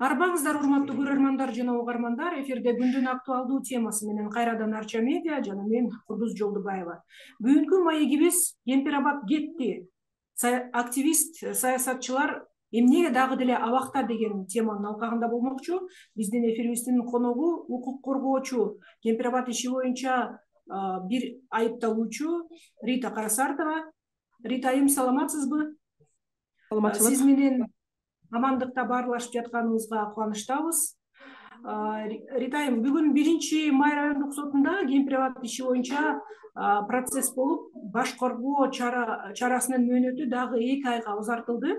Арбаңыздар, урматтуу көрөрмандар жана угармандар, эфирде күндүн актуалдуу темасы менен кайрадан Арча медиа жана мен Курдуз Жолдубаева. Бүгүнкү маегибиз Кемпир-Абак кетти. Активист, саясатчылар эмнеге дагы деле абакта деген теманын алкагында болмокчу. Биздин эфирибиздин коногу укук коргоочу, Кемпир-Абак иши боюнча бир айыпталуучу Рита Карасартова. Рита айым, саламатсызбы? Саламатчылык. Сиз менен амандыкта баарлашып жатканыбызга кубанычтабыз. Рита айым, бүгүн 1-Май райондук сотунда Кемпир-Абак иши боюнча процесс болуп, баш коргоо чарасынын мөөнөтү дагы 2 айга узартылды.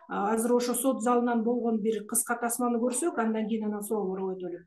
Азыр ошо сот залынан болгон бир кыска тасманы көрсөк, андан кийин анан суроолорго өтөлү.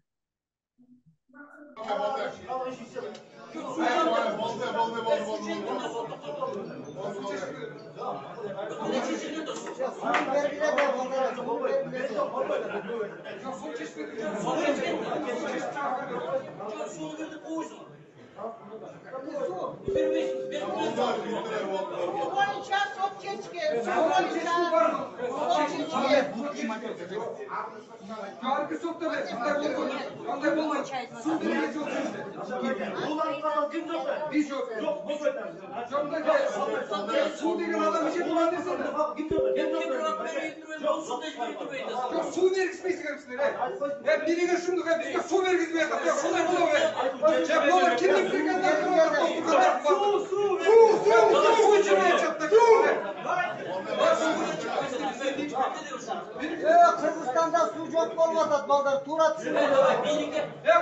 Kırgızstan'da su yok olmadı balдар, tuğra düşünüyor.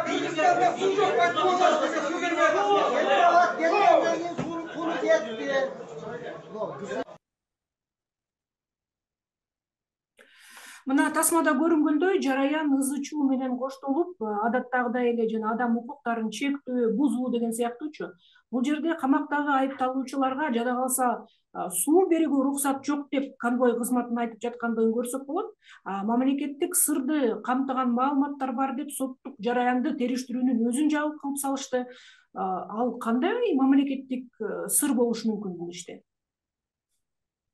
Kırgızstan'da su yok, ben su vermedim. Kemper-Abak gelmeden sunu yetti. Мына тасмада көрүнгөндөй жараян ызы-чуу менен коштолуп, адаттагыдай эле жана адам укуктарын чектөө, бузуу деген сыяктуучу. Бул жерде камактагы айыпталуучуларга жада калса суу берүүгө уруксат жок деп конвой кызматын айтып жаткандыгын көрсөк болот. Мамлекеттик сырды камтыган маалыматтар бар деп соттук жараянды териштирүүнүн өзүн жабык кылып салышты. Ал кандай мамлекеттик сыр болушу мүмкүн бул иште?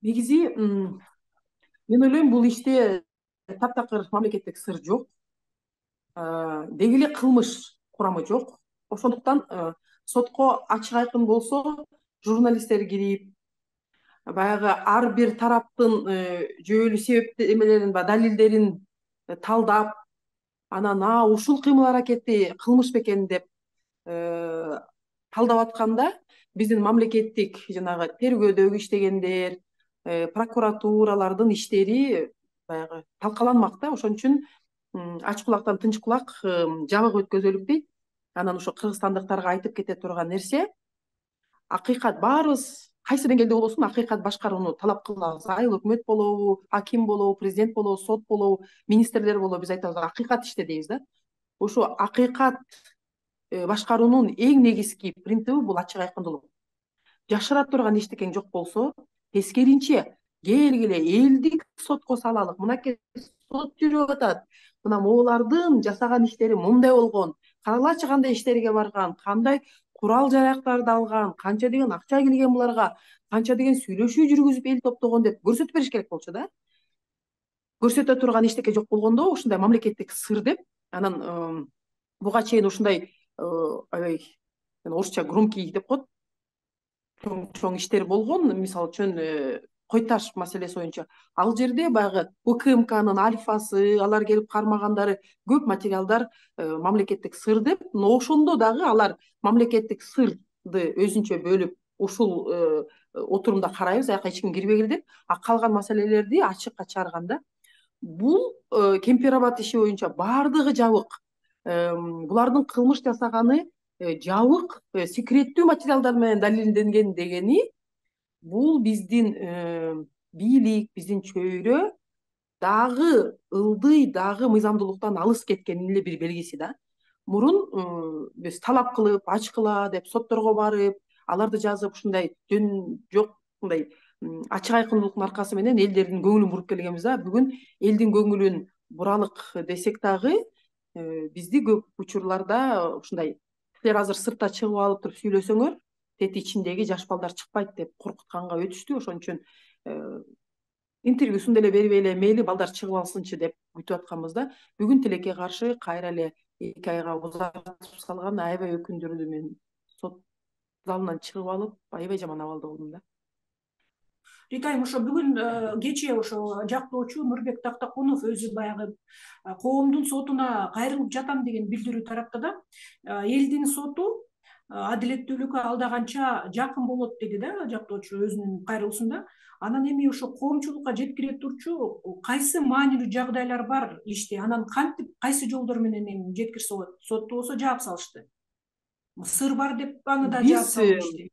Негизи мен ойлойм, бул иште таптакыр мамлекеттик сыр жок. Деги эле кылмыш курамы жок. Ошондуктан сотко ачык айкын болсо, журналисттер кирип, баягы ар бир тараптын жүйөлүү себептемелерин, далилдерин талдап, анан ушул кыймыл-аракети кылмыш бекен деп талдап атканда, биздин мамлекеттик жанагы тергөөдөгү иштегендер, прокуратуралардын иштери баягы талкаланмак да. Ошон үчүн ач кулактан тынч кулак жабык өткөзөлүк дейт. Анан ошо кыргызстандыктарга айтып кете турган нерсе, акыйкат баарыбыз кайсы деңгээлде болосун акыйкат башкарууну талап кылабыз. Айыл өкмөт болобу, аким болобу, президент болобу, сот болобу, министрлер болобу, биз айтабыз акыйкат иште дейбиз да. Ошо акыйкат башкаруунун эң негизги принциби бул ачык айкындуулук. Жашыра турган эчтеке жок болсо, тескеринче келгиле элдик сотко салалык. Мынакей сот жүрүп атат. Мына могулардын жасаган иштери мындай болгон. Каралачы кандай иштерге барган, кандай курал жарактарды алган, канча деген акча келген буларга, канча деген сүйлөшүү жүргүзүп эл топтогон деп көрсөтүп бериш керек болчу да. Көрсөтө турган эчтеке жок болгондо, ушундай мамлекеттик сыр деп, анан буга чейин ушундай аябай орусча громкий деп коет, чоң иштер болгон. Мисалы үчүн Кой таш маселеси боюнча ал жерде баягы УКМКнын альфасы, алар келип кармагандары көп материалдар мамлекеттик сыр деп, но ошондо дагы алар мамлекеттик сырды өзүнчө бөлүп ушул отурумда карайбыз, аяка эч ким кирбегиле деп, калган маселелерди ачыкка чыгарганда, бул Кемпир-Абак иши боюнча баардыгы жабык. Булардын кылмыш жасаганы жабык, секреттүү материалдар менен далилденген дегени, бул биздин бийлик, биздин чөйрө дагы ылдый, дагы мыйзамдуулуктан алыс кеткенин эле бир белгиси да. Мурун биз талап кылып, ачкыла деп сотторго барып, аларды жазып, ушундай жөн жок, мындай ачык айкындуулуктун аркасы менен элдердин көңүлүн буруп келгенбиз да. Бүгүн элдин көңүлүн буралык десек дагы, бизди көп учурларда ушундай силер азыр сыртта чыгып алып туруп сүйлөсөңөр, тети ичиндеги жаш балдар чыкпайт деп коркутканга өтүштү. Ошон үчүн интервьюсун деле бербей эле мейли балдар чыгып алсынчы деп күтүп атканбызда, бүгүн тилекке каршы кайра эле 2 айга узартып салган аябай өкүндүрдү. Мен сот залынан чыгып алып аябай жаман абалда болдум да. Ритайм, ошо бүгүн кечээ ошо жактоочу Нурбек Тактакунов өзү баягы коомдун сотуна кайрылып жатам деген билдирүү таратты да. Элдин соту адилеттүүлүккө алдаганча жакын болот деди да жактоочу өзүнүн кайрылуусунда. Анан эми ошо коомчулукка жеткире турчу кайсы маанилүү жагдайлар бар иште, анан кантип кайсы жолдор менен эми жеткирсе болот? Сотто болсо жаап салышты. Сыр бар деп аны да жаап салышты.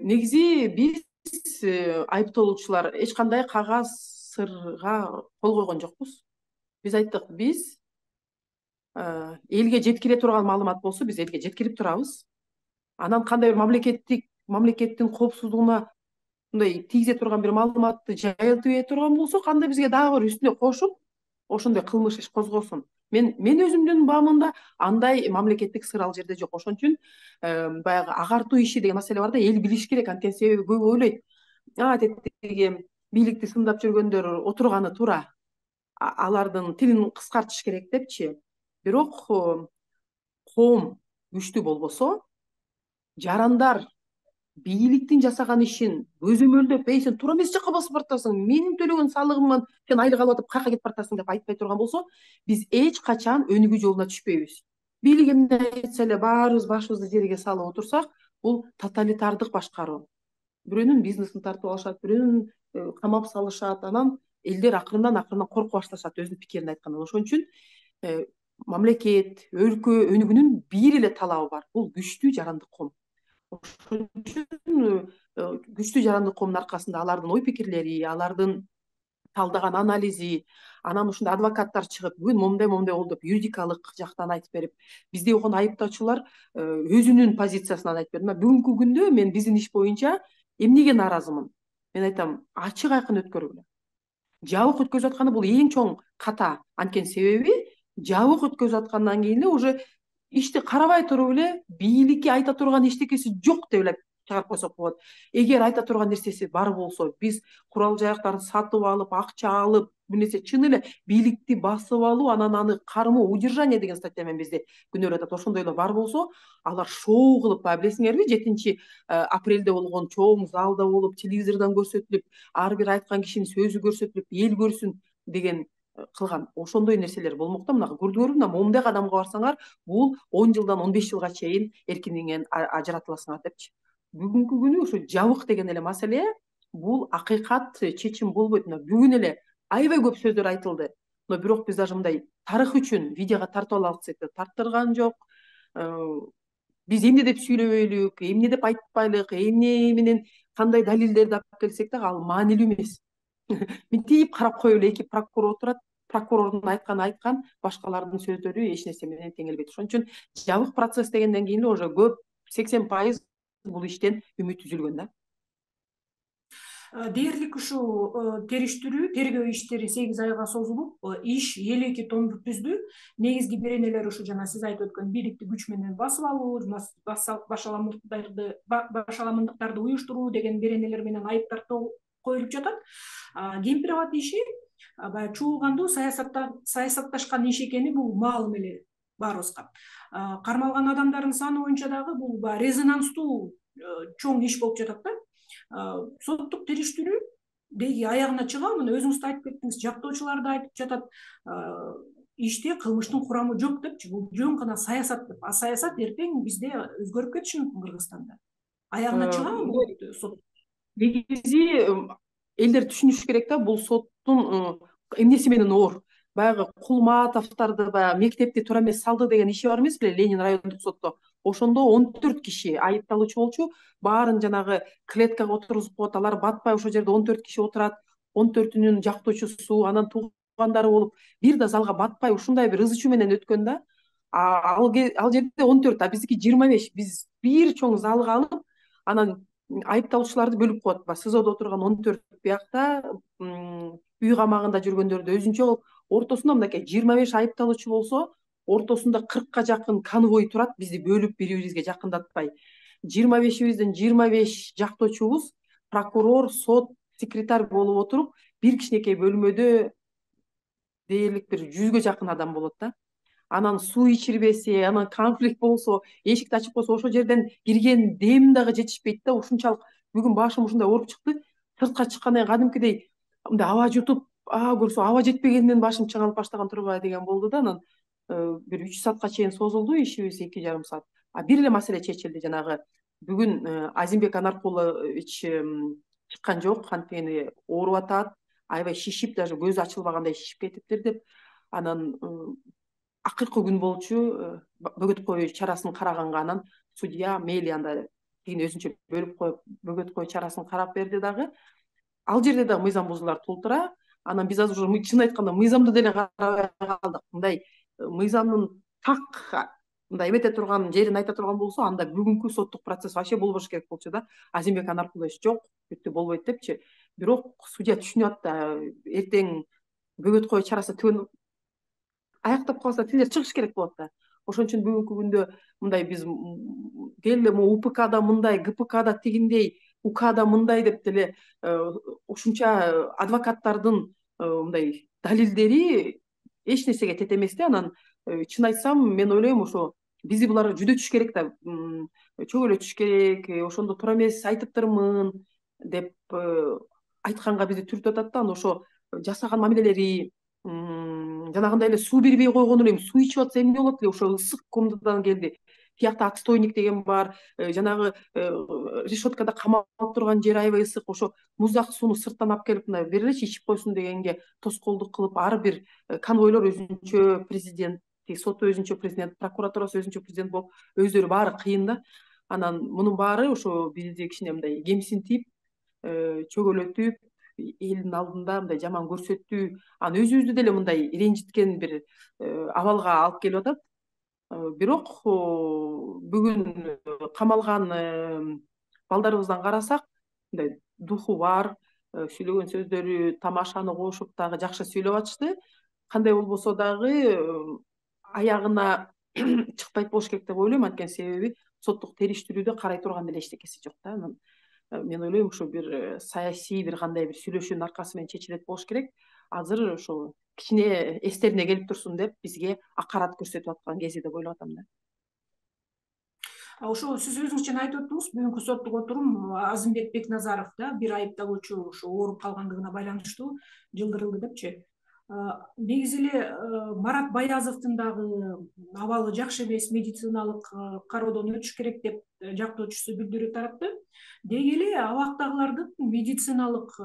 Негизи биз айыпталуучулар эч кандай кагаз сырга кол койгон жокпуз. Биз айттык, биз элге жеткире турган маалымат болсо биз элге жеткирип турабыз. Анан кандай бир мамлекеттин коопсуздугуна мындай тийгизе турган бир маалыматты жайылтып ээ турган болсо, кандай бизге дагы бир үстүнө кошуп ошондой кылмыш иш козгосун. Мен өзүмдүн баамымда андай мамлекеттик сыр ал жерде жок. Ошон үчүн баягы агартуу иши деген маселе бар да, эл билиш керек. Анткени себеби көп ойлойт, тетиги бийликти сындап жүргөндөр отурганы туура, алардын тилин кыскартыш керек депчи. Бирок коом күчтүү болбосо, жарандар бийликтин жасаган ишин көзөмөлдөп, сен туура эмес жакка басып баратасың, менин төлөгөн салыгымдан сен айлык алып атып каяка кетип баратасың деп айтпай турган болсо, биз эч качан өнүгүү жолуна түшпөйбүз. Бийлик эмне айтса эле баарыбыз башыбызды жерге салып отурсак, бул тоталитардык башкаруу. Бирөөнүн бизнесин тартып алышат, бирөөнүн камап салышат, анан элдер акырындан коркуп башташат өзүнүн пикирин айткандан. Ошон үчүн мамлекет, өлкө өнүгүүнүн бир эле талабы бар, бул күчтүү жарандык ком. Ошон үчүн күчтүү жарандык коомдун аркасында алардын ой пикирлери, алардын талдаган анализи, анан ушундай адвокаттар чыгып, бүгүн момундай болду деп юридикалык жактан айтып берип, бизди окон айыптоочулар өзүнүн позициясынан айтып берди. Бүгүнкү күндө мен биздин иш боюнча эмнеге нааразымын? Мен айтам, ачык айкын өткөргүлө. Жабык өткөзүп атканы бул эң чоң ката. Анткени себеби жабык өткөзүп аткандан кийин эле уже ишти карабай туруп эле бийликке айта турган эчтекеси жок деп эле чыгарып койсок болот. Эгер айта турган нерсеси бар болсо, биз курал жайактарды сатып алып, акча алып, бир нерсе чын эле бийликти басып алуу, анан аны кармоо, удержание деген статья менен бизди күнөөлөп атат. Ошондой эле бар болсо, алар шоу кылып, билесиңерби, 7-апрелде болгон чоң залда болуп, телевизордон көрсөтүлүп, ар бир айткан кишинин сөзү көрсөтүлүп, эл көрсүн деген кылган. Ошондой нерселер болмок да. Мына көрдүңөрбү, мына момундай кадамга барсаңар, бул 10 жылдан 15 жылга чейин эркиндигиңен ажыратыласыңар депчи. Бүгүнкү күнү ошо жабык деген эле маселе бул акыйкат чечим болбойт. Бүгүн эле аябай көп сөздөр айтылды. Бирок биз даже мындай тарых үчүн видеого тартып алалы десек да тарттырган жок. Биз эмне деп сүйлөбөйлүк, эмне деп айтпайлык, эмне менен кандай далилдерди алып келсек дагы ал маанилүү эмес. Мынтип карап коелу, эки прокурор отурат, прокурордун айткан, башкалардын сөздөрү эч нерсе менен теңелбейт. Ошон үчүн жабык процесс дегенден кийин эле уже көп 80% бул иштен үмүт үзүлгөн да. Дээрлик ушул териштирүү, тергөө иштери 8 айга созулуп, иш 52 томду түздү. Негизги беренелер ушу жана сиз айтып өткөн бийликти күч менен басып алуу, башаламындыктарды уюштуруу деген беренелер менен айыптар коюлуп жатат. Кемпир-абад иши баягы чуулгандуу саясатташкан иш экени бул маалым эле баарыбызга. Кармалган адамдардын саны боюнча дагы бул резонанстуу чоң иш болуп жатат да. Соттук териштирүү деги аягына чыга, мына өзүңүз да айтып кеттиңиз, жактоочулар да айтып жатат, иште кылмыштын курамы жок депчи, бул жөн гана саясат деп. Саясат эртең бизде өзгөрүп кетиши мүмкүн Кыргызстанда. Аягына чыгабы бул сот? Негизи элдер түшүнүш керек да, бул соттун эмнеси менен оор. Баягы Кулматовдорду баягы мектепти туура эмес салды деген иши бар эмес беле, Ленин райондук сотто. Ошондо 14 киши айыпталуучу болчу, баарын жанагы клеткага отургузуп коет, алар батпай ошол жерде 14 киши отурат, 14-үнүн жактоочусу, анан туугандары болуп, бир да залга батпай ушундай бир ызы чуу менен өткөн да. Ал жерде 14, а биздики 25. Биз бир чоң залга алып, анан айыпталуучуларды бөлүп коет. СИЗОдо отурган 14 биякта, үй камагында жүргөндөрдү өзүнчө болуп, ортосунда мынакей 25 айыпталуучу болсо, ортосунда 40ка жакын конвой турат, бизди бөлүп бири-бирибизге жакындатпай. 25-бизден 25 жактоочубуз, прокурор, сот, секретарь болуп отуруп бир кичинекей бөлмөдө дээрлик бир 100гө жакын адам болот да. Анан суу ичирбесе, анан конфликт болсо, эшикти ачып койсо ошол жерден кирген дем дагы жетишпейт да. Ушунчалык бүгүн башым ушундай ооруп чыкты. Сыртка чыккандан кийин кадимкидей мындай аба жутуп, көрсө аба жетпегенден башым чыңалып баштаган турбайбы деген болду да. Анан бир 3 саатка чейин созулду ишибиз, 2,5 саат. Бир эле маселе чечилди, жанагы бүгүн Азимбек Анаркулович чыккан жок, анткени ооруп атат, аябай шишип, даже көзү ачылбагандай шишип кетиптир деп. Анан акыркы күн болчу, бөгөт кою чарасын караганга анан судья мейли анда тигини өзүнчө бөлүп коюп бөгөт кою чарасын карап берди дагы. Ал жерде дагы мыйзам бузулар тултура. Анан биз азыр уже чын айтканда мыйзамды деле карабай калдык. Мындай мыйзамдын так мындай эмете турган жерин айта турган болсо, анда бүгүнкү соттук процесс вообще болбош керек болчу да. Азимбек Анаркулович жок, бүттү болбойт депчи. Бирок судья түшүнүп атты, эртең бөгөт кою чарасы түгөн аяктап калса тилер чыгыш керек болот да. Ошон үчүн бүгүнкү күндө мындай биз келе УПКда мындай, ГПКда тигиндей, УКда мындай деп деле ушунча адвокаттардын мындай далилдери эч нерсеге тете эмес да. Анан чын айтсам, мен ойлойм ошо бизди булар жүдөтүш керек да, чөгөлөтүш керек. Ошондо туура эмес айтыптырмын деп айтканга бизди түртүп атат да. Анан ошо жасаган мамилелери жанагындай эле суу бербей койгону эле, суу ичип атса эмне болот эле, ошо ысык комнатадан келди. Тиякта отстойник деген бар, жанагы решеткада камалып турган жер аябай ысык. Ошо муздак сууну сырттан алып келип мындай бер элечи ичип койсун дегенге тоскоолдук кылып, ар бир конвойлор өзүнчө президент, соту өзүнчө президент, прокуратурасы өзүнчө президент болуп, өздөрү баары кыйын да. Анан мунун баары ошо бизди кичине мындай кемсинтип, чөгөлөтүп, элдин алдында мындай жаман көрсөтүү, анан өзүбүздү деле мындай ренжиткен бир абалга алып келип атат. Бирок бүгүн камалган балдарыбыздан карасак, мындай духу бар, сүйлөгөн сөздөрү тамашаны кошуп дагы жакшы сүйлөп атышты. Кандай болбосо дагы аягына чыкпайт болуш керек деп ойлойм, анткени себеби соттук териштирүүдө карай турган деле эчтекеси жок да. Анан мен ойлойм ушу бир саясий бир кандай бир сүйлөшүүнүн аркасы менен чечилет болуш керек. Азыр ошо кичине эстерине келип турсун деп бизге акарат көрсөтүп аткан кези деп ойлоп атам да. Ошо сиз өзүңүз жана айтып өттүңүз, бүгүнкү соттук отурум Азимбек Бекназаров да бир айыпталуучу ошо ооруп калгандыгына байланыштуу жылдырылды депчи. Негизи эле Марат Баязовдун дагы абалы жакшы эмес, медициналык кароодон өтүш керек деп жактоочусу билдирүү таратты. Деги эле абактагылардын медициналык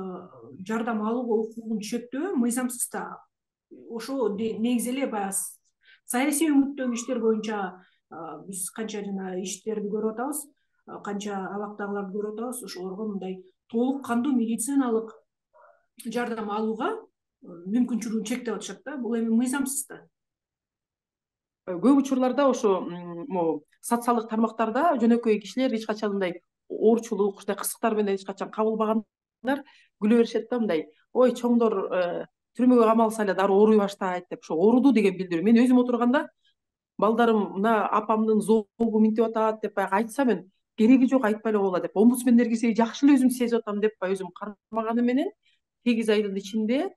жардам алууга укугун чектөө мыйзамсыз да. Ошо негизи эле баягы саясий өңүттөгү иштер боюнча биз канча жана иштерди көрүп атабыз, канча абактагыларды көрүп атабыз. Ошолорго мындай толук кандуу медициналык жардам алууга мүмкүнчүлүгүн чектеп атышат да. Бул эми мыйзамсыз да. Көп учурларда ошо могу социалдык тармактарда жөнөкөй кишилер эч качан мындай оорчулук, ушундай кырсыктар менен эч качан кабылбагандар күлө беришет да, мындай ой чоңдор түрмөгө камалса эле дароо ооруй баштайт деп, ошо ооруду деген билдирүү. Мен өзүм отурганда балдарым мына апамдын зообу минтип атат деп баягы айтса, мен кереги жок, айтпай эле койгула деп, омбудсмендер кирсе жакшы эле өзүм сезип атам деп өзүм кармаганы менен 8 айдын ичинде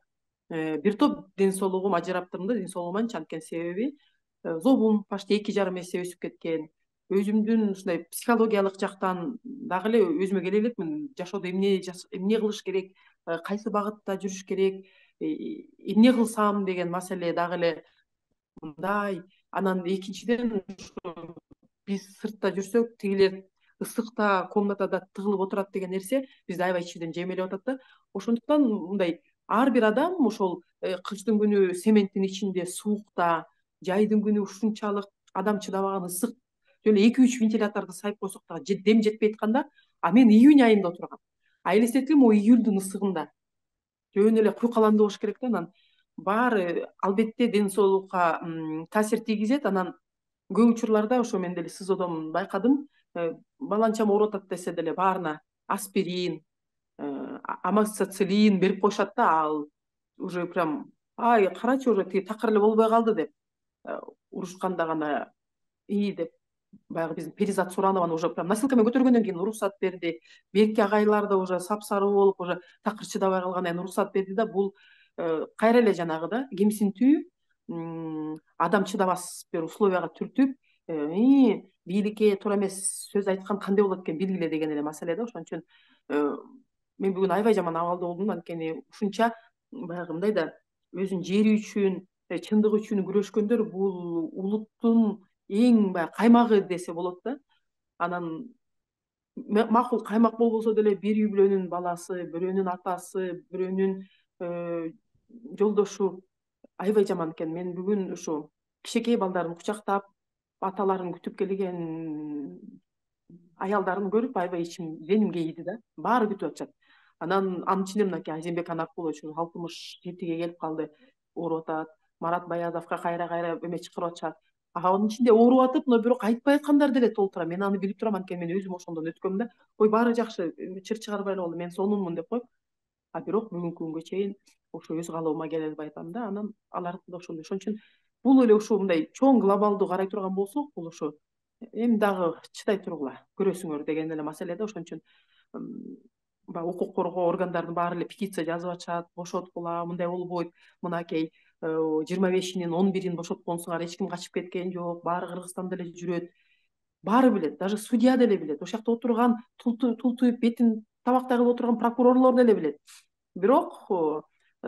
бир топ ден соолугум ажыраптырмын да, ден соолугум анткени себеби зообум почти 2,5 эсе өсүп кеткен. Өзүмдүн ушундай психологиялык жактан дагы эле өзүмө келе элекмин. Жашоодо эмне кылыш керек, кайсы багытта жүрүш керек, эмне кылсам деген маселе дагы эле мындай. Анан экинчиден биз сыртта жүрсөк, тигилер ысыкта комнатада тыгылып отурат деген нерсе бизди аябай ичибиден жемелеп атат да. Ошондуктан мындай ар бир адам ошол кыштын күнү цементтин ичинде суукта, жайдын күнү ушунчалык адам чыдабаган ысык жөн 2-3 вентиляторду сайып койсок дагы дем жетпей атканда, мен июнь айында отургам. Элестетем, июлдун ысыгында жөн эле куйкаландуу болуш керек да. Анан баары албетте ден соолукка таасир тийгизет. Анан көп учурларда ошо мен деле СИЗОдон байкадым, баланчам ооруп атат десе деле баарына аспирин, амоксициллин берип коюшат да. Ал уже прям карачы уже тиги такыр эле болбой калды деп урушканда гана деп баягы биздин Перизат Суранова уже прям носилкамен көтөргөндөн кийин уруксат берди. Берки агайлар да уже сапсары болуп, уже такыр чыдабай калгандан кийин уруксат берди да, бул кайра эле жанагы да кемсинтүү, адам чыдабас бир условияга түртүп, бийликке туура эмес сөз айткан кандай болот экен билгиле деген эле маселе да. Ошон үчүн мен бүгүн аябай жаман абалда болдум, анткени ушунча баягы мындай да өзүнүн жери үчүн, чындык үчүн күрөшкөндөр бул улуттун эң баягы каймагы десе болот да. Анан макул каймак болбосо деле бир үй бүлөнүн баласы, бирөөнүн атасы, бирөөнүн жолдошу аябай жаман экен. Мен бүгүн ушу кичинекей балдарын кучактап, аталарын күтүп келген аялдарын көрүп аябай ичим деним кейиди да. Баары күтүп атышат. Анан анын ичинде мынакей Азимбек Анаркулович 67-ге келип калды, ооруп атат. Марат Баязовго кайра эме чакырып атышат. Анын ичинде ооруп атып, но бирок айтпай аткандар деле толтура. Мен аны билип турам, анткени мен өзүм ошондон өткөм да. Ой, баары жакшы, чыр чыгарбай эле болду, мен сонунмун деп коюп. Бирок бүгүнкү күнгө чейин ошо өз каалоома келе албай атам да. Анан алар да ошондой. Ошон үчүн бул эле ушу мындай чоң глобалдуу карай турган болсок, бул ушу эми дагы чыдай тургула, көрөсүңөр деген эле маселе да. Ошон үчүн баягы укук коргоо органдарынын баары эле петиция жазып атышат, бошоткула, мындай болбойт, мынакей 25-инин 11-ин бошотконсуңар, эч ким качып кеткен жок, баары Кыргызстанда эле жүрөт. Баары билет, даже судья деле билет, ошол жакта отурган тултуюп бетин табактай кылып отурган прокурорлор деле билет. Бирок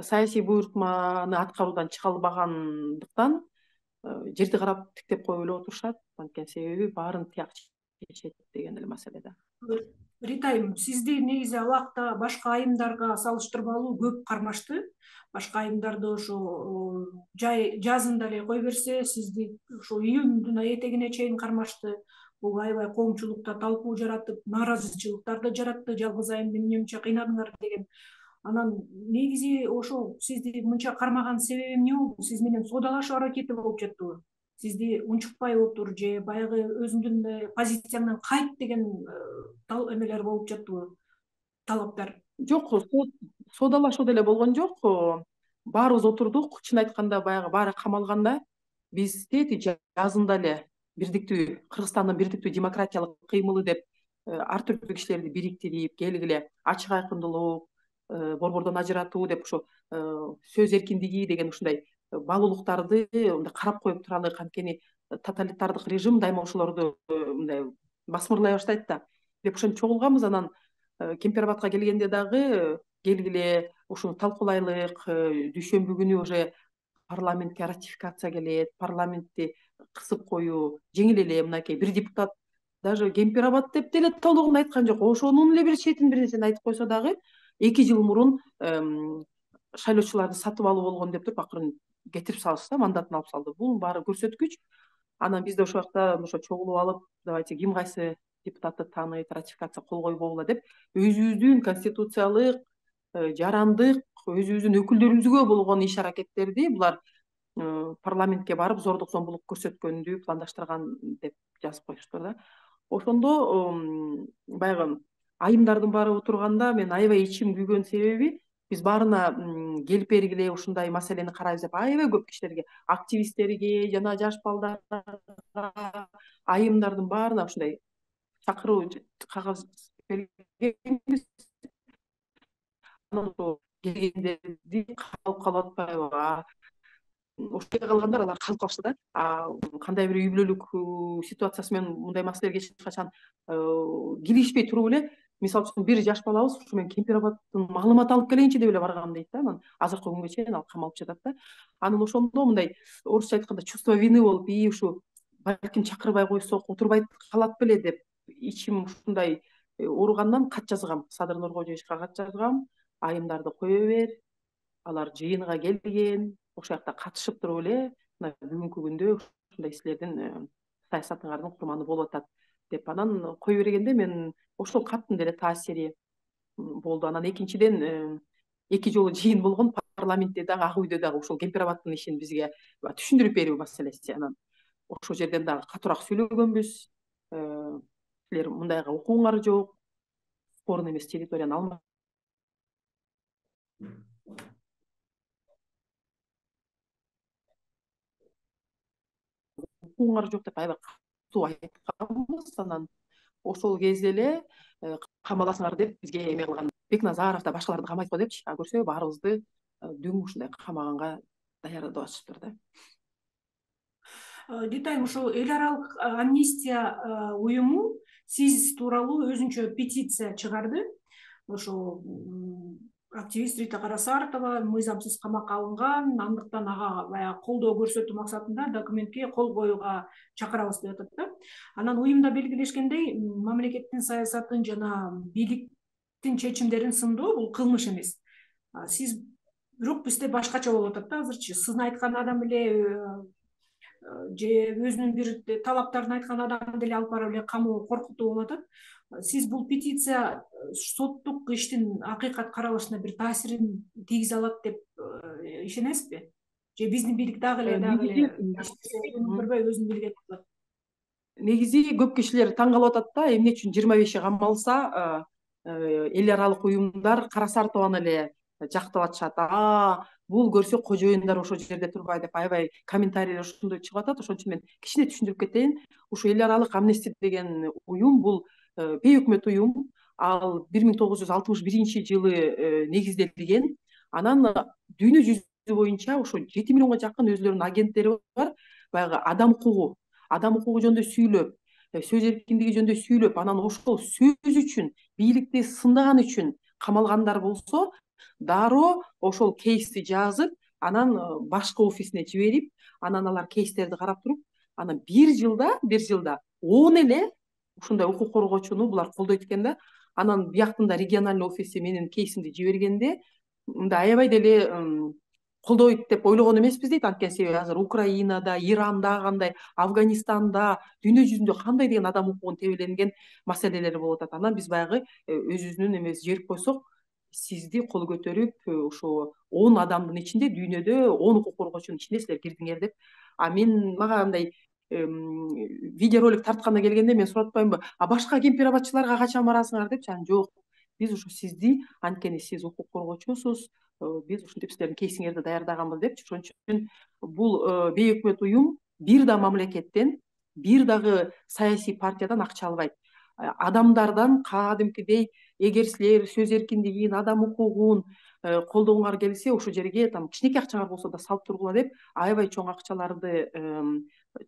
саясий буйртманы аткаруудан чыга албагандыктан жерди карап тиктеп коюп эле отурушат. Анткени себеби баарын тияк чечет деген эле маселе да. Рита айым, сизди негизи ал убакта башка айымдарга салыштырмалуу көп кармашты. Башка айымдарды ошо жазында эле кой берсе, сизди ошо июндун этегине чейин кармашты. Бул аябай коомчулукта талкуу жаратып, нааразычылыктарды жаратты. Жалгыз айымды эмне үчүн кыйнадыңар деген. Анан негизи ошо сизди мынча кармаган себеби эмне болду? Сиз менен соодалашуу аракети болуп жаттыбы? Сизди унчукпай отур же баягы өзүңдүн позицияңдан кайт деген эмелер болуп жаттыбы, талаптар? Жок, соодалашуу деле болгон жок. Баарыбыз отурдук. Чын айтканда баягы баары камалганда биз тээти жазында эле бирдиктүү, Кыргызстандын бирдиктүү демократиялык кыймылы деп ар түрдүү кишилерди бириктирип, келгиле ачык айкындуулук, борбордон ажыратуу деп ушу сөз эркиндиги деген ушундай баалуулуктарды мындай карап коюп туралык. Анткени тоталитардык режим дайыма ошолорду мындай басмырлай баштайт да деп ошентип чогулганбыз. Анан Кемпир-Абадка келгенде дагы келгиле ушуну талкуулайлык, дүйшөмбү күнү уже парламентке ратификация келет, парламентти кысып коюу жеңил эле. Мынакей бир депутат даже Кемпир-Абад деп деле толугун айткан жок. Ошонун эле бир четин бир нерсени айтып койсо дагы 2 жыл мурун шайлоочуларды сатып алуу болгон деп туруп акырын кетирип салышты, мандатын алып салды. Бул баары көрсөткүч. Анан биз да ошол жакта ошо чогулуп алып, давайте ким кайсы депутатты тааныйт, ратификация кол койбогула деп өзүбүздүн конституциялык, жарандык, өзүбүздүн өкүлдөрүбүзгө болгон иш аракеттерди булар парламентке барып зордук зомбулук көрсөткөндү пландаштырган деп жазып коюштур да. Ошондо баягы айымдардын баары отурганда мен аябай ичим күйгөн себеби биз баарына келип бергиле ушундай маселени карайбыз деп аябай көп кишилерге, активисттерге жана жаш балдарга, айымдардын баарына ушундай чакыруу кагаз бергенбиз. Анан ошо келгендерди калып атпайбы? Ошол калгандар алар калып калышты да. Кандай бир үй бүлөлүк ситуациясы менен мындай маселелерге эч качан киришпей туруп эле, мисалы үчүн бир жаш балабыз ушу мен Кемпир-Абадтын маалымат алып келейинчи деп эле баргам дейт да. Анан азыркы күнгө чейин ал камалып жатат да. Анан ошондо мындай орусча айтканда чувство вины болуп, ушу балким чакырбай койсок отурбай калат беле деп ичим ушундай ооругандан кат жазгам. Садыр Нуркожоевичке кат жазгам. Айымдарды кое бер, алар жыйынга келген, ошол жакта катышып туруп эле мына бүгүнкү күндө ушундай силердин саясатыңардын курманы болуп атат деп. Анан кое бергенде мен ошол каттын деле таасири болду. Анан экинчиден 2 жолу жыйын болгон парламентте дагы, ак үйдө дагы ушул Кемпир-Абадтын ишин бизге түшүндүрүп берүү маселеси. Анан ошол жерден дагы катуураак сүйлөгөнбүз. Силер мындайга укугуңар жок, спорный эмес территорияны алма укугуңар жок деп аябай айтканбыз. Анан ошол кезде эле камаласыңар деп бизге эме кылган. Бекназаров да башкаларды камайт го депчи. Көрсө баарыбызды дүң ушундай камаганга даярдап атышыптыр да. Детайм ошо эл аралык амнистия уюму сиз тууралуу өзүнчө петиция чыгарды. Ошо активист Рита Карасартова мыйзамсыз камакка алынган, андыктан ага баягы колдоо көрсөтүү максатында документке кол коюуга чакырабыз деп атат да. Анан уюмда белгилешкендей, мамлекеттин саясатын жана бийликтин чечимдерин сындоо бул кылмыш эмес. Сиз бирок бизде башкача болуп атат да азырчы. Сиздин айткан адам эле же өзүнүн бир талаптарын айткан адам деле алып барып эле камоо коркутуу болуп атат. Сиз бул петиция соттук иштин акыйкат каралышына бир таасирин тийгизе алат деп ишенесизби? Же биздин бийлик дагы эле көрбөй өзүн билген кылат? Негизи көп кишилер таң калып атат да, эмне үчүн 25 камалса эл аралык уюмдар Карасартованы эле жактап атышат. Бул көрсө кожоюндар ошол жерде турбайт деп аябай комментарийлер ошондой чыгып атат. Ошон үчүн мен кичине түшүндүрүп кетейин. Ушу эл аралык амнистия деген уюм бул бейөкмөт уюм. Ал 1961-жылы негизделген. Анан дүйнө жүзү боюнча ошо 7 миллионго жакын өзлөрүнүн агенттери бар. Баягы адам укугу жөнүндө сүйлөп, сөз эркиндиги жөнүндө сүйлөп, анан ошол сөз үчүн, бийликти сындаган үчүн камалгандар болсо, дароо ошол кейсти жазып, анан башкы офисине жиберип, анан алар кейстерди карап туруп, анан бир жылда 10 эле ушундай укук коргоочуну булар колдойт экен да. Анан бияктын да региональный офиси менин кейсимди жибергенде, мындай аябай деле колдойт деп ойлогон эмеспиз дейт. Анткени себеби азыр Украинада, Иранда кандай, Афганистанда, дүйнө жүзүндө кандай деген адам укугун тебеленген маселелер болуп атат. Анан биз баягы өзүбүздүн эмебизди жиберип койсок, сизди кол көтөрүп, ошо 10 адамдын ичинде дүйнөдө 10 укук коргоочунун ичинде силер кирдиңер деп. Мага андай видеоролик тарткандан келгенде мен сурап атпаймынбы? Башка кемпир-абадчыларга качан барасыңар депчи. Жок. Биз ушу сизди, анткени сиз укук коргоочусуз, биз ушинтип силердин кейсиңерди даярдаганбыз депчи. Ошон үчүн бул бейөкмөт уюм бир да мамлекеттен, бир дагы саясий партиядан акча албайт. Адамдардан кадимкидей, эгер силер сөз эркиндигин, адам укугун колдогуңар келсе, ошол жерге там кичинекей акчаңар болсо да салып тургула деп, аябай чоң акчаларды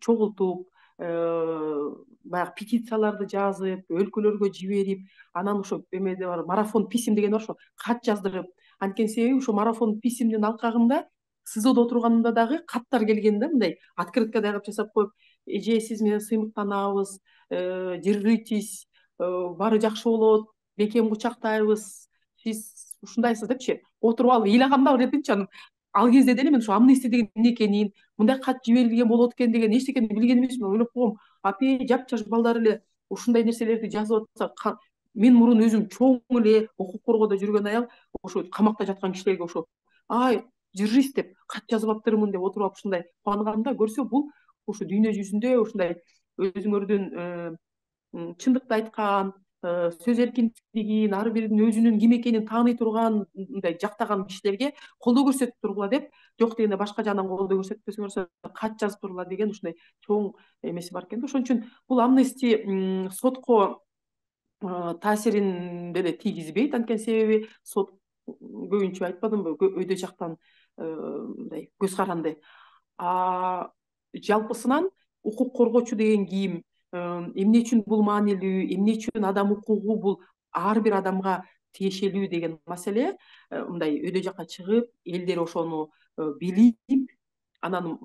чогултуп, баягы петицияларды жазып, өлкөлөргө жиберип, анан ошо эмеде бар, марафон писем деген бар, ошо кат жаздырып. Анткени себеби ошо марафон писемдин алкагында СИЗОдо отурганымда дагы каттар келген да, мындай открытка даярдап жасап коюп, эже сиз менен сыймыктанабыз, держитесь, баары жакшы болот, бекем кучактайбыз, сиз ушундайсыз депчи. Отуруп алып ыйлаганда бар эдимчи. Анан ал кезде деле мен ошо амнистия деген эмне экенин, мындай кат жиберилген болот экен деген эчтекени билген эмесмин. Ойлоп койгом, апе жапжаш балдар эле ушундай нерселерди жазып атса, мен мурун өзүм чоң эле укук коргоодо жүргөн аял ошо камакта жаткан кишилерге ошо держись деп кат жазып аптырмын деп отуруп алып ушундай кубанганда, көрсө бул ошо дүйнө жүзүндө ушундай өзүңөрдүн чындыкты айткан, сөз эркиндигин, ар биринин өзүнүн ким экенин тааный турган, мындай жактаган кишилерге колдоо көрсөтүп тургула деп, жок дегенде башка жагынан колдоо көрсөтпөсөңөр кат жазып тургула деген ушундай чоң эмеси бар экен да. Ошон үчүн бул амнистия сотко таасирин деле тийгизбейт. Анткени себеби сот көбүнчө айтпадымбы, өйдө жактан мындай көз каранды. Жалпысынан укук коргоочу деген ким, эмне үчүн бул маанилүү, эмне үчүн адам укугу бул ар бир адамга тиешелүү деген маселе мындай өйдө жакка чыгып, элдер ошону билип, анан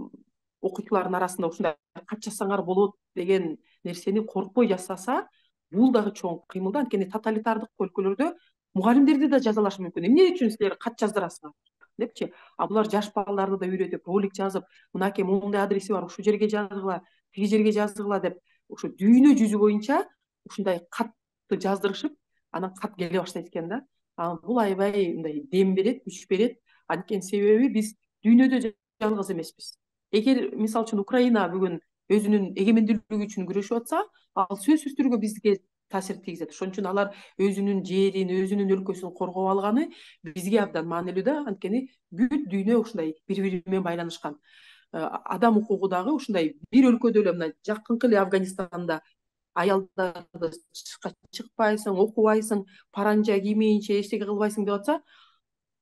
окуучулардын арасында ушундай кат жазсаңар болот деген нерсени коркпой жасаса, бул дагы чоң кыймыл да. Анткени тоталитардык өлкөлөрдө мугалимдерди да жазалашы мүмкүн. Эмне үчүн силер кат жаздырасыңар депчи. Булар жаш балдарды да үйрөтүп, ролик жазып, мынакей моундай адреси бар, ушул жерге жазгыла, тиги жерге жазгыла деп, ошо дүйнө жүзү боюнча ушундай катты жаздырышып, анан кат келе баштайт экен да. Бул аябай мындай дем берет, күч берет. Анткени себеби биз дүйнөдө жалгыз эмеспиз. Эгер мисалы үчүн Украина бүгүн өзүнүн эгемендүүлүгү үчүн күрөшүп атса, ал сөзсүз түрдө бизге таасир тийгизет. Ошон үчүн алар өзүнүн жерин, өзүнүн өлкөсүн коргоп алганы бизге абдан маанилүү да. Анткени бүт дүйнө ушундай бири-бири менен байланышкан. адам укугу дагы ушундай бир өлкөдө эле мына жакынкы эле Афганистанда аялдарды тышка чыкпайсың, окубайсың, паранжа киймейинче эчтеке кылбайсың деп атса,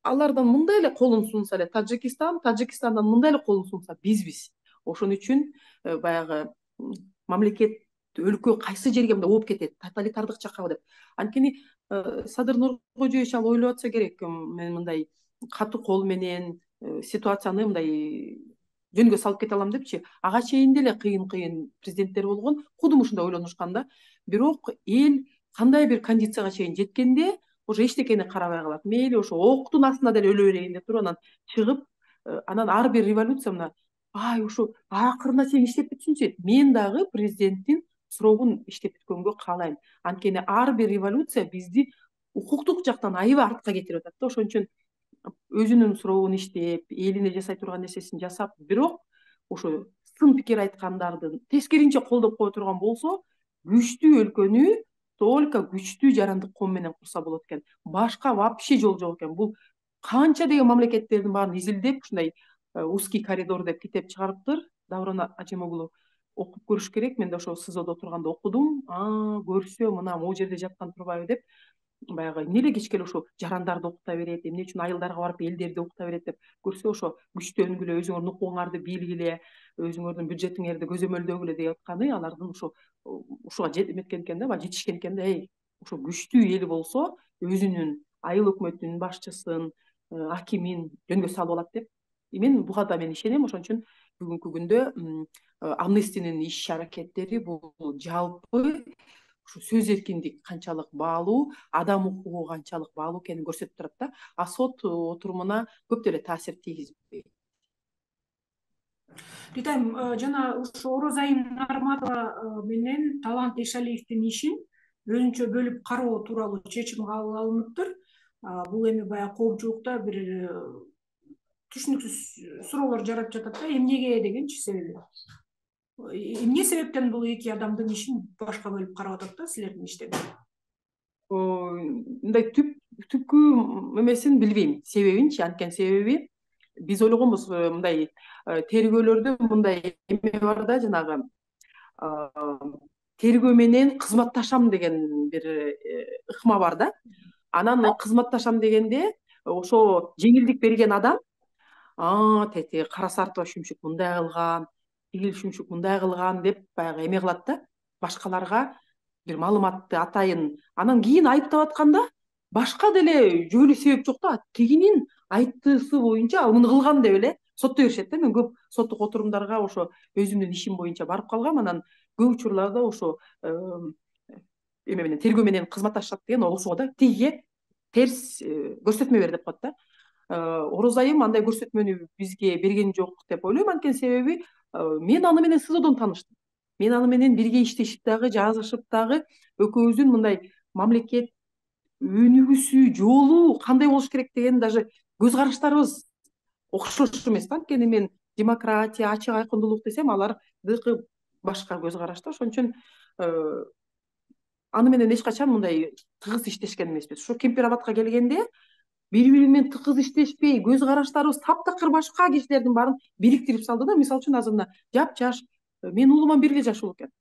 алардан мындай эле колун сунса эле Тажикистандан мындай эле колун сунса бизбиз. Ошон үчүн баягы мамлекет өлкө кайсы жерге мындай ооп кетет, тоталитардык жакка деп. Анткени Садыр Нуркожоевич ал ойлоп атса керек, мен мындай катуу кол менен ситуацияны мындай жөнгө салып кете алам депчи. Ага чейин деле кыйын президенттер болгон, кудум ушундай ойлонушкан да. Бирок эл кандай бир кондицияга чейин жеткенде уже эчтекени карабай калат. Мейли ошо октун астында деле өлө берейин деп туруп анан чыгып, анан ар бир революция мына ушу акырына чейин иштеп бүтсүнчү. Мен дагы президенттин суроогун иштеп бүткөнгө каалайм. Анткени ар бир революция бизди укуктук жактан аябай артка кетирип атат да. Ошон үчүн өзүнүн суроогун иштеп, элине жасай турган нерсесин жасап, бирок ошо сын пикир айткандардын тескеринче колдоп кое турган болсо, күчтүү өлкөнү только күчтүү жарандык ком менен курса болот экен. Башка вообще жол жок экен. Бул канча деген мамлекеттердин баарын изилдеп, ушундай узкий коридор деп китеп чыгарыптыр. Даврон Ажимоглу окуп көрүш керек. Мен да ошо СИЗОдо отурганда окудум. Көрсө мына могу жерде жаткан турбайбы деп. Баягы эмне эле кечке эле ошо жарандарды окута берет, эмне үчүн айылдарга барып элдерди окута берет деп көрсө, ошо күчтөнгүлө, өзүңөрдүн укугуңарды билгиле, өзүңөрдүн бюджетиңерди көзөмөлдөгүлө деп атканы алардын ушуга жеткен экен да, баягы жетишкен экен да. Ошо күчтүү эл болсо, өзүнүн айыл өкмөтүнүн башчысын, акимин жөнгө салып алат деп. Мен буга да ишенем. Ошон үчүн бүгүнкү күндө Амнестинин иш аракеттери бул жалпы ушу сөз эркиндик канчалык баалуу, адам укугу канчалык баалуу экенин көрсөтүп турат да. А сот отурумуна көп деле таасир тийгизбейт. Ритайм, жана ушу Орозайым Нарматова менен Талант Эшалиевдин ишин өзүнчө бөлүп кароо тууралуу чечим кабыл алыныптыр. Бул эми баягы коомчулукта бир түшүнүксүз суроолор жаратып жатат да, эмнеге дегенчи себеби. Эмне себептен бул эки адамдын ишин башка бөлүп карап атат да силердин иштеди? Мындай түпкү эмесин билбейм, себебинчи. Анткени себеби биз ойлогонбуз, мындай тергөөлөрдө мындай эме бар да, жанагы тергөө менен кызматташам деген бир ыкма бар да. Анан кызматташам дегенде ошо жеңилдик берген адам тети Кара Сартова Шүмшүк мындай кылган, тигил Шүмшүк мындай кылган деп баягы эме кылат да, башкаларга бир маалыматты атайын. Анан кийин айыптап атканда башка деле жөнү себеп жок да, тигинин айттыысы боюнча ал муну кылган деп эле соттой беришет да. Мен көп соттук отурумдарга ошо өзүмдүн ишим боюнча барып калгам. Анан көп учурларда ошо эме менен тергөө менен кызматташат деген ошого да тигиге терс көрсөтмө бер деп коет да. Орозайым андай көрсөтмөнү бизге берген жок деп ойлойм. Анткени себеби мен аны менен СИЗОдон тааныштым. Мен аны менен бирге иштешип дагы, жазышып дагы, экөөбүздүн мындай мамлекет өнүгүүсү жолу кандай болуш керек деген даже көз караштарыбыз окшош эмес да. Анткени мен демократия, ачык айкындуулук десем, алардыкы башка көз карашта. Ошон үчүн аны менен эч качан мындай тыгыз иштешкен эмеспиз. Ошо Кемпир-Абадка келгенде бири-бири менен тыгыз иштешпей, көз караштарыбыз таптакыр башка кишилердин баарын бириктирип салды да. Мисалы үчүн азыр мына жап-жаш, менин уулуман бир эле жаш уулу экен.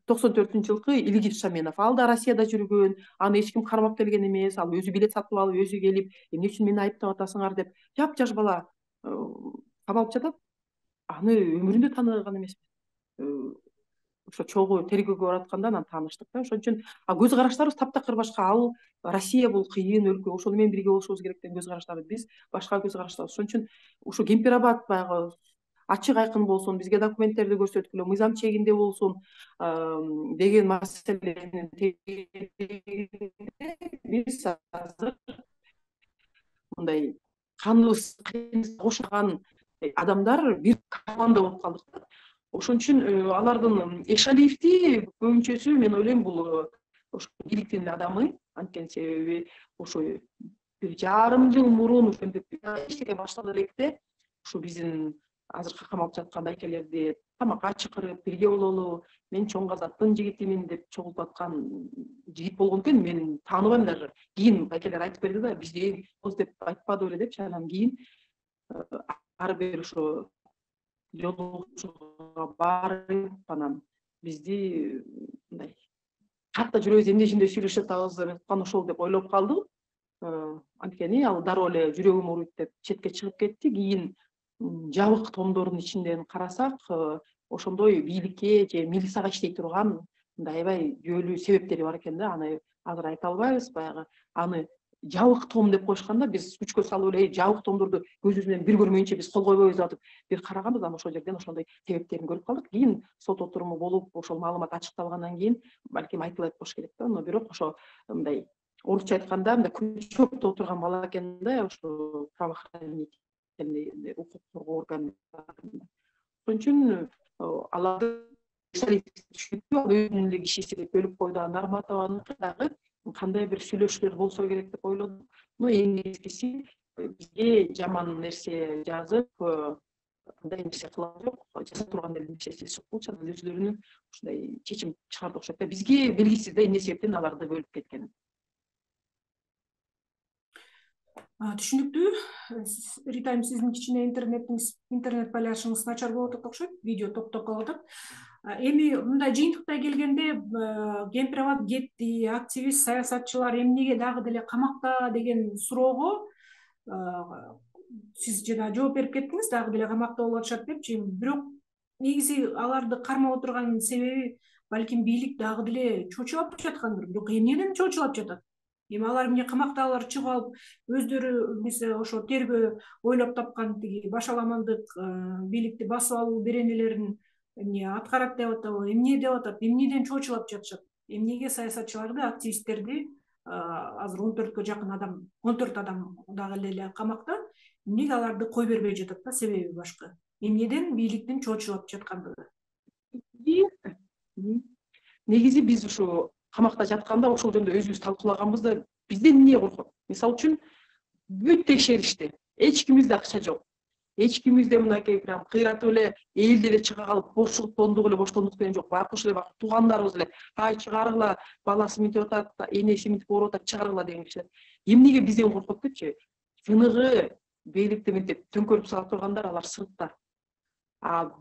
94-жылкы Илгиз Шаменов. Ал да Россияда жүргөн, аны эч ким кармап келген эмес. Ал өзү билет сатып алып, өзү келип, эмне үчүн мени айыптап атасыңар деп жап-жаш бала камалып жатат. Аны өмүрүндө тааныган эмесмин. Ошо чогуу тергөөгө баратканда анан тааныштык да. Ошон үчүн көз караштарыбыз таптакыр башка. Ал Россия бул кыйын өлкө, ошону менен бирге болушубуз керек деген көз караштары, биз башка көз караштабыз. Ошон үчүн ушу Кемпир-Абад баягы ачык айкын болсун, бизге документтерди көрсөткүлө, мыйзам чегинде болсун деген маселени биз азыр мындай каныбыз кошулган адамдар бир команда болуп калдык. Ошон үчүн алардын Эшалиевди көбүнчөсү мен ойлойм бул ошо бийликтин адамы. Анткени себеби ошо бир жарым жыл мурун ошентип иштеге баштады электе ушу биздин азыркы камалып жаткан байкелерди тамакка чакырып бирге бололу, мен чоң казактын жигитимин деп чогултуп аткан жигит болгон экен. Мен тааныбайм даже. Кийин байкелер айтып берди да, бизде деп айтпады беле депчи. Анан кийин ар бир ошо жолугушууга барып анан бизди мындай катта жүрөбүз, эмне ишинде сүйлөшүп атабыз кана ошол деп ойлоп калдым. Анткени ал дароо эле жүрөгүм ооруйт деп четке чыгып кетти. Кийин жабык томдордун ичинден карасак, ошондой бийликке же милицияга иштей турган мындай аябай жүйөлүү себептери бар экен да. Аны азыр айта албайбыз. Баягы аны жабык том деп коюшканда биз күчкө салып эле жабык томдорду көзүбүз менен бир көрмөйүнчө биз кол койбойбуз деп атып бир караганбыз. Анан ошол жерден ошондой себептерин көрүп калдык. Кийин сот отуруму болуп, ошол маалымат ачыкталгандан кийин балким айтылат болуш керек да. Но бирок ошо мындай орусча айтканда мындай күчөптө отурган бала экен да, ошо правоохранительный укук коргоо органдарында. Ошон үчүн аларды түшүнүктүү, өзүнүн эле кишиси деп бөлүп койду. Нарматованыкы дагы кандай бир сүйлөшүүлөр болсо керек деп ойлодум. Но эң негизгиси бизге жаман нерсе жазып, кандай нерсе кылган жок, жаза турган нерсеси жок болчу. Анан өзлөрүнүн ушундай чечим чыгарды окшойт да. Бизге белгисиз да эмне себептен аларды бөлүп кеткен. Түшүнүктүү. Рита айым, сиздин кичине интернет байланышыңыз начар болуп атат окшойт, видео токтоп калып атат. Эми мындай жыйынтыктай келгенде Кемпирабад кетти, активист, саясатчылар эмнеге дагы деле камакта деген суроого сиз жана жооп берип кеттиңиз, дагы деле камакта болуп атышат депчи. Бирок негизи аларды кармап отурган себеби балким бийлик дагы деле чочулап жаткандыр. Бирок эмнеден чочулап жатат? Эми алар эмне камактагылар чыгып алып өздөрү биз ошо тергөө ойлоп тапкан тиги башаламандык бийликти басып алуу беренелерин эмне аткарат деп атабы, эмне деп атат, эмнеден чочулап жатышат? Эмнеге саясатчыларды, активисттерди азыр 14-кө жакын адам, 14 адам дагы эле камакта, эмнеге аларды кой бербей жатат да? Себеби башка. Эмнеден бийликтин чочулап жаткандыгы. Негизи биз ушу камакта жатканда ошол жөнүндө өзүбүз талкуулаганбыз да, бизден эмне коркот? Мисалы үчүн бүт текшеришти. Эч кимибизде акча жок. Эч кимибизде мынакей прям кыйратып эле элди эле чыга калып борчулуп тондук эле боштондук деген жок. Байкуш эле туугандарыбыз эле ай чыгаргыла, баласы мынтип атат, энеси мынтип ооруп атат, чыгаргыла деген кишилер. Эмнеге бизден коркот депчи? Чыныгы бийликти мынтип төңкөрүп сала тургандар алар сыртта.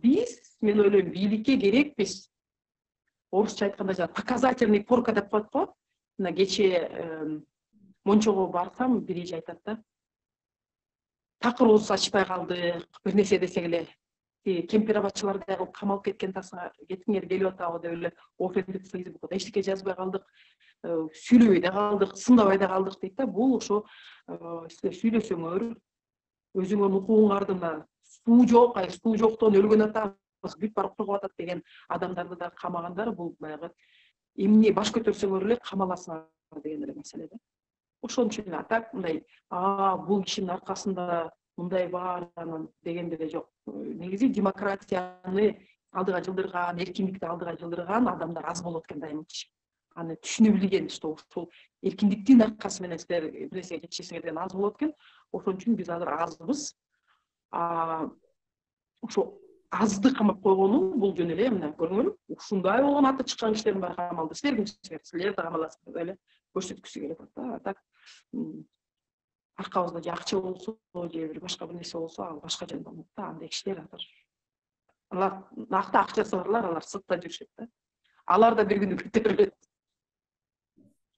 Биз, мен ойлойм, бийликке керекпиз. Орусча айтканда жана показательный порка деп коет го. Мына кечээ Мончого барсам, бир эже айтат да. Такыр ооз ачпай калдык, бир нерсе десек эле кемпирабадчыларды кылып камалып кеткен тасыңар, кеткиңер келип атабы деп эле офендик фейсбукта эчтеке жазбай калдык, сүйлөбөй да калдык, сындабай да калдык дейт да. Бул ошо силер сүйлөсөңөр, өзүңөрдүн укугуңарды суу жок, суу жоктон өлгөн атабыз, бүт барып кыргып атат деген адамдарды да камагандар. Бул баягы эмне баш көтөрсөңөр эле камаласыңар деген эле маселе да. Ошон үчүн атак мындай бул кишинин аркасында мындай бар анан деген деле жок. Негизи демократияны алдыга жылдырган, эркиндикти алдыга жылдырган адамдар аз болот экен дайымчы. Аны түшүнө билген, что ушул эркиндиктин аркасы менен силер бир нерсеге жетишесиңер деген аз болот экен. Ошон үчүн биз азыр азбыз. Ошо азды камап койгону бул жөн эле. Мына көрүңөр, ушундай болгон аты чыккан кишилердин баары камалды. Силер кимсиңер? Силер да камаласыңар деп эле көрсөткүсү келип атат да. Аркабызда же акча болсо, же бир башка бир нерсе болсо, ал башка жөн болот да. Андай кишилер азыр. Алар накты акчасы барлар, алар сыртта жүрүшөт да. Алар да бир күнү көтөрүлөт.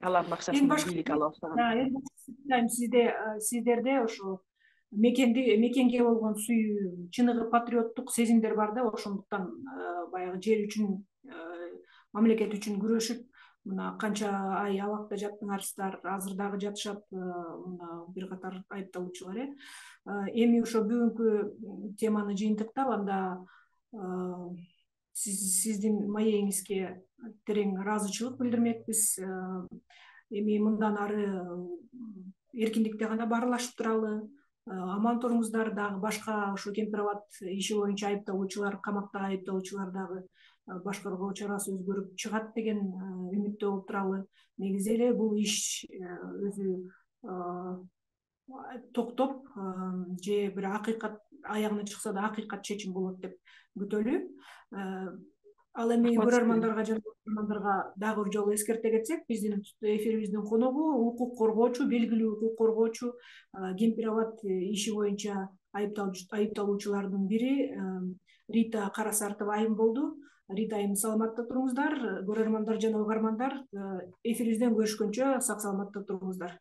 Алардын акчасын бийлик ала баштаган. Сиздерде ошо мекенге болгон сүйүү, чыныгы патриоттук сезимдер бар да. Ошондуктан баягы жер үчүн, мамлекет үчүн күрөшүп, мына канча ай абакта жаттыңарсыздар, азыр дагы жатышат мына бир катар айыпталуучулар. Эми ошо бүгүнкү теманы жыйынтыктап, анда сиздин маегиңизге терең ыраазычылык билдирмекпиз. Эми мындан ары эркиндикте гана баарлашып туралы, аман туруңуздар. Дагы башка ошо Кемпирабад иши боюнча айыпталуучулар, камактагы айыпталуучулар дагы башкаруу чарасы өзгөрүп чыгат деген үмүттө болуп туралы. Негизи эле бул иш өзү токтоп же бир акыйкат аягына чыкса да акыйкат чечим болот деп күтөлү. Ал эми Рахмат көрөрмандарга жана угармандарга дагы бир жолу эскерте кетсек, биздин эфирибиздин коногу укук коргоочу, белгилүү укук коргоочу, Кемпирабад иши боюнча айыпталуучулардын бири Рита Карасартова айым болду. Рита айым, саламатта туруңуздар. Көрөрмандар жана угармандар, эфирибизден көрүшкөнчө сак саламатта туруңуздар.